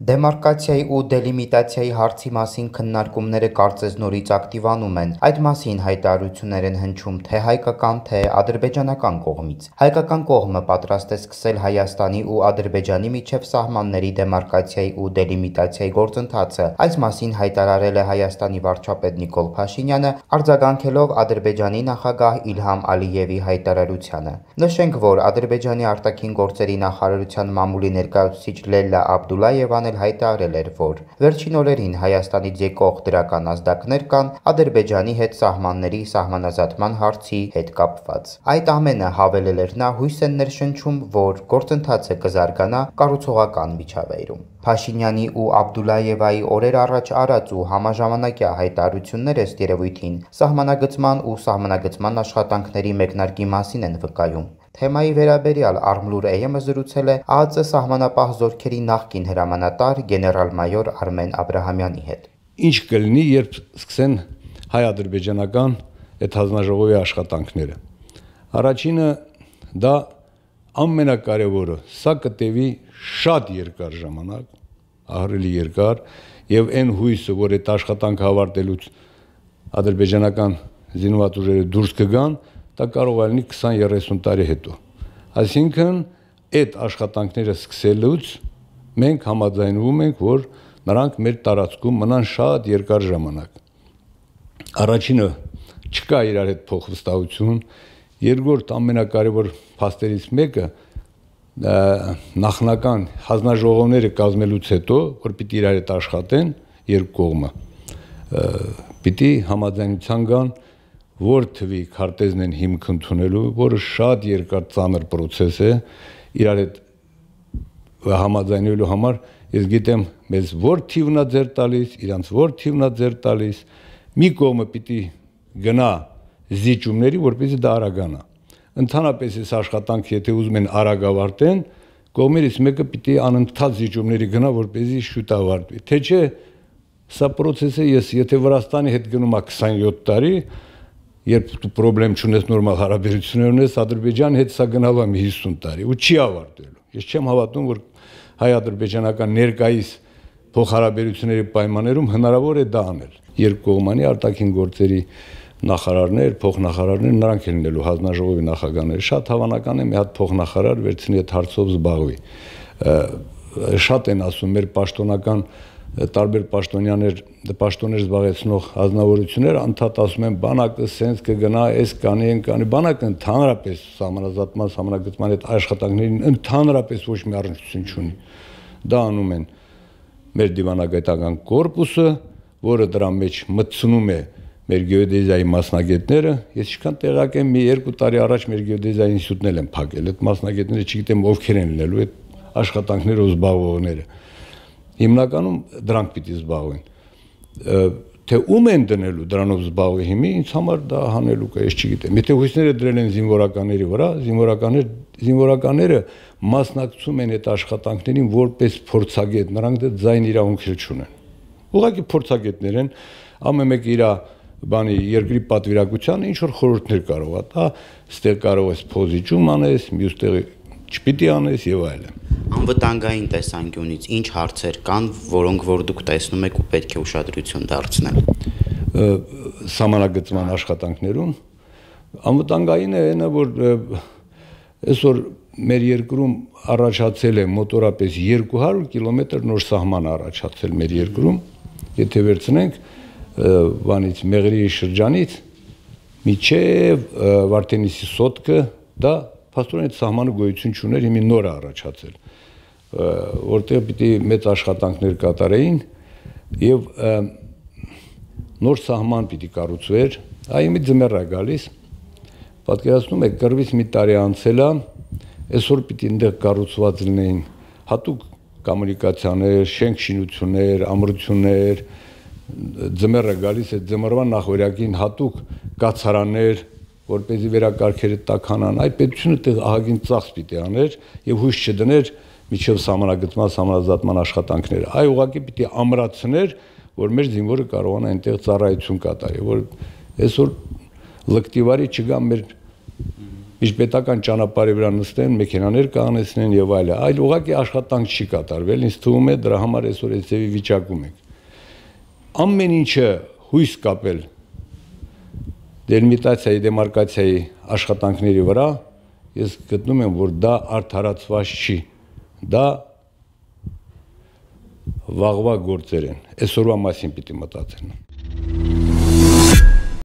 Դեմարկացիայի ու դելիմիտացիայի հարցի մասին քննարկումները կարծես նորից ակտիվանում են։ Այդ մասին հայտարարություններ են հնչում թե հայկական, թե ադրբեջանական կողմից։ Հայկական կողմը պատրաստ է սկսել Հայաստանի ու Ադրբեջանի միջև սահմանների դեմարկացիայի ու դելիմիտացիայի գործընթացը։ Այս մասին հայտարարել է Հայաստանի վարչապետ Նիկոլ Փաշինյանը, արձագանքելով Ադրբեջանի նախագահ Իլհամ Ալիևի հայտարարությանը։ Նշենք, որ Ադրբեջանի արտաքին գործերի նախարարության մամուլի ներկայացուցիչ Լելլա Աբդուլլայևան հայտարարել էր, որ վերջին օրերին Հայաստանից եկող դրական ազդակներ կան Ադրբեջանի հետ սահմանների սահմանազատման հարցի հետ կապված։ Այդ ամենը, հավելել էր նա, հույս են ներշնչում, որ գործընթացը կզարգանա կառուցողական միջավայրում։ Փաշինյանի ու Աբդուլլայևայի օրեր առաջ արած ու համաժամանակյա հայտարարությունները ըստ երևույթին սահմանագծման ու սահմանագծման աշխատանքների մեկնարկի մասին են վկայում։ Թեմայի վերաբերյալ Արմլուր AM-ը զրուցել է ԱԱԾ սահմանապահ զորքերի նախկին հրամանատար գեներալ-մայոր Արմեն Աբրահամյանի հետ։ Ինչ կլինի, երբ սկսեն հայ-ադրբեջանական այդ հանձնաժողովի աշխատանքները։ Առաջինը դա ամենակարևորը, սա կտևի շատ երկար ժամանակ, ահռելի երկար, եւ այն հույսը, որ այդ աշխատանքը ավարտելուց ադրբեջանական զինված ուժերը դուրս կգան, դա կարող է լինի 20-30 տարի հետո։ Այսինքն, այդ աշխատանքները սկսելուց մենք համաձայնվում ենք, որ նրանք մեր տարածքում մնան շատ երկար ժամանակ։ Առաջինը չկա իրար հետ փոխվստահություն, երկրորդ ամենակարևոր փաստերից մեկը նախնական հանձնաժողովները կազմելուց հետո, որ պիտի իրար հետ աշխատեն երկու կողմը, պիտի համաձայնության գան, որ թվի քարտեզն են հիմք ընդունելու, որը շատ երկար ծանր պրոցես է, իրար հետ համաձայնելու համար ես գիտեմ մեզ որ թիվն է ձեր տալիս, իրանց որ թիվն է ձեր տալիս, մի կողմը պիտի գնա զիջումների, որպեսզի դա արագանա։ Ընդհանրապես այս աշխատանքը եթե ուզում են արագ ավարտեն, կողմերից մեկը պիտի անընդհատ զիջումների գնա, որպեսզի շուտ ավարտվի։ Թե չէ, սա պրոցեսը ես եթե Վրաստանի հետ գնում ա 27 տարի, երբ դու պրոբլեմ չունես նորմալ հարաբերություններ ունես, Ադրբեջանի հետ սա գնալու է 50 տարի ու չի ավարտվելու։ Ես չեմ հավատում, որ հայ-ադրբեջանական ներկայիս փոխհարաբերությունների պայմաններում հնարավոր է դա անել։ Երկկողմանի արտաքին գործերի նախարարներ, փոխնախարարներ, նրանք են լինելու հանձնաժողովի նախագահները։ Շատ հավանական է մի հատ փոխնախարար վերցնի այդ հարցով զբաղվի։ Շատ են ասում մեր պաշտոնական տարբեր պաշտոններ զբաղեցնող ազնվորություններ անդադ ասում են բանակը սենց կգնա, այս կանի, այն կանի, բանակը ընդհանրապես սահմանազատման, սահմանագծման այդ աշխատանքներին ընդհանրապես ոչ մի առնչություն չունի։ Դա անում են մեր դիվանագիտական կորպուսը, որը դրա մեջ մտցնում է մեր գեոդեզիայի մասնագետները, ես ինչքան տեղակ եմ, մի 2 տարի առաջ մեր գեոդեզիայի ինստիտուտն են փակել, այդ մասնագետները չգիտեմ ովքեր են լինելու այդ աշխատանքներով զբաղվողները։ Հիմնականում դրանք պիտի զբաղվեն։ Թե ում են դնելու դրանով զբաղվի հիմի, ինձ համար դա հանելուկ է, ես չգիտեմ։ Եթե հույսները դրել են զինվորականների վրա, զինվորականները մասնակցում են այդ աշխատանքներին որպես փորձագետ, նրանք դա ձայն իրավունքեր չունեն։ Ուղղակի փորձագետներ են, ամեն մեկը իր բանի երկրի պատվիրակությանը ինչ որ խորհուրդներ կարող է տա, ստեղ կարող ես փոզիչում անես, մյուս տեղը չպիտի անես եւ այլն։ Անվտանգային տեսանկյունից ինչ հարցեր կան, որոնք որ դուք տեսնում եք ու պետք է ուշադրություն դարձնել։ Սահմանագծման աշխատանքներում անվտանգայինը այնը, որ այսօր մեր երկրում առաջացել է մոտորապես 200 կիլոմետր նոր սահման առաջացել մեր երկրում, եթե վերցնենք բանից Մեղրիի շրջանից միջև Վարդենիսի սոտկը, դա փաստորեն այդ սահմանը գոյություն չուներ, հիմա նոր է առաջացել, որտեղ պիտի մեծ աշխատանքներ կատարեին եւ նոր սահման պիտի կառուցվեր, այ մի ձմեռ է գալիս, պատկերացնում եք կռվից մի տարի անցել է, այսօր պիտի այնտեղ կառուցված լինեին հատուկ կոմունիկացիաներ, շենք-շինություններ, ամրություններ, ձմեռը գալիս է ձմռվա նախօրյակին հատուկ կացարաններ, որպեսզի վերակարգերը տաքանան, այդ պետությունը տեղ ահագին ծախս պիտի աներ եւ հույս չդներ միջև սահմանագծման, սահմանազատման աշխատանքները։ Այ ուղղակի պիտի ամրացներ, որ մեր զինվորը կարողանա այնտեղ ծառայություն կատարի, որ այսօր լկտիվարի չգա մեր միջպետական ճանապարհի վրա նստեն, մեքենաներ կանեցնեն եւ այլն, այլ ուղղակի աշխատանք չի կատարվել, ինձ թվում է դրա համար այսօր այս ձևի վիճակում ենք։ Ամեն ինչը հույս կապել դելիմիտացիայի, դեմարկացիայի աշխատանքների վրա, ես գտնում եմ, որ դա արդարացված չի, դա վաղվա գործեր են, այսօրվա մասին պիտի մտածեն։